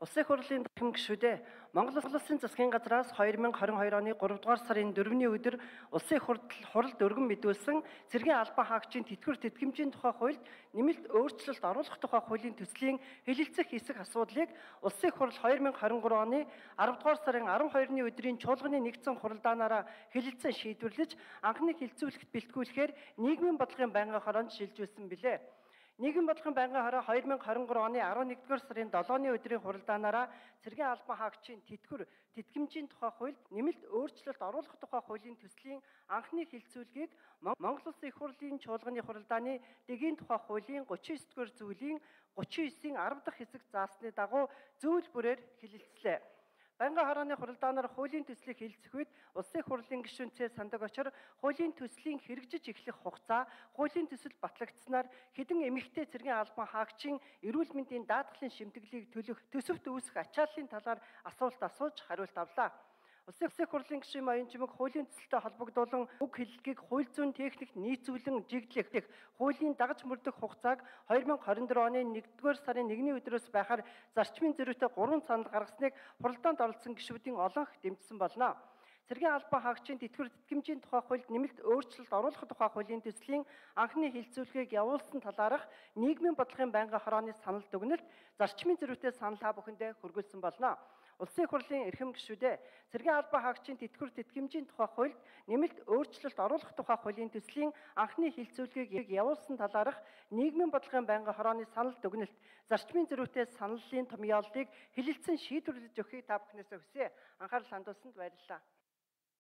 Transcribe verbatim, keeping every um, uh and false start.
Улсын хурлын дахин гишүүдээ Монгол Улсын засгийн газраас хоёр мянга хорин хоёр оны гурав дугаар сарын дөрөвний өдөр улсын хурлд өргөн мэдүүлсэн цэргийн албан хаагчийн тэтгэвэр тэтгэмжийн тухай хуульд нэмэлт өөрчлөлт оруулах тухай хуулийн төслийн хэлэлцэх хэсэг асуудлыг улсын хурл хоёр мянга хорин гурав оны арав дугаар сарын арав хоёрны өдрийн чуулганы нэгдсэн хуралдаанаараа хэлэлцэн шийдвэрлэж анхны хилцүүлэгт бэлтгүүлэхээр нийгмийн бодлогын байнгын хороонд шилжүүлсэн билээ. Нийгмийн бодлогын байнгын хороо хоёр мянга хорин гурав оны арав нэгдүгээр сарын долооны өдрийн хуралдаанаараа цэргийн албан хаагчийн тэтгэвэр тэтгэмжийн тухай хуульд нэмэлт өөрчлөлт оруулах тухай хуулийн төслийн анхны хилцүүлгийг Монгол Улсын их хурлын чуулганы хуралдааны дэгийн тухай хуулийн гучин девять дугаар зүйлийн гучин девятийн арав дахь хэсэг заасны дагуу зөвлөл бүрээр хэлэлцлээ. Байнгын хорооны хуралдаанаар хуулийн төслийг хэлэлцэх үед улсын хурлын гишүүнцээ сандаг очор хуулийн төслийн хэрэгжиж эхлэх хугацаа, хуулийн төсөл батлагдсанаар хэдэн эмэгтэй цэргийн албан хаагчийн эрүүл мэндийн даатгалын шимтгэлийг төлөх төсөвт үүсэх ачааллын талаар асуулт асууж хариулт авлаа. Улсын хурлын гишүүн Баян Жимэг хуулийн төсөлтэй холбогдуулан үг хэллэгийг хууль зүйн техникт нийцүүлэн жиглэх хуулийн дагаж мөрдөх хугацааг хоёр мянга хорин дөрөв оны нэгдүгээр сарын нэгний өдрөөс байхаар зарчмын зөрүүтэй гурван санал гаргасныг хуралдаанд оролцсон гишүүдийн олонх дэмжсэн болно. Цэргийн албан хаагчийн тэтгэвэр тэтгэмжийн тухай хуульд нэмэлт өөрчлөлт оруулах тухай хуулийн төслийн анхны хилцүүлгийг явуулсан талаарх нийгмийн бодлогын байнгын хорооны санал дүгнэлт зарчмын зөрүүтэй санал та бүхэндээ хүргүүлсэн болно. Улсын хурлын эрхэм гишүүдээ цэргийн албан хаагчийн тэтгэвэр тэтгэмжийн тухай хуульд нэмэлт өөрчлөлт оруулах тухай хуулийн төслийн анхны хилцүүлгийг явуулсан талаарх нийгмийн бодлогын байнгын хорооны санал дүгнэлт зарчмын зөрүүтэй саналын томьёоллыг хэлэлцэн шийдвэрлэж өгөхийг та бүхнээсээ хүсье. Анхаарал хандуулсанд баярлалаа.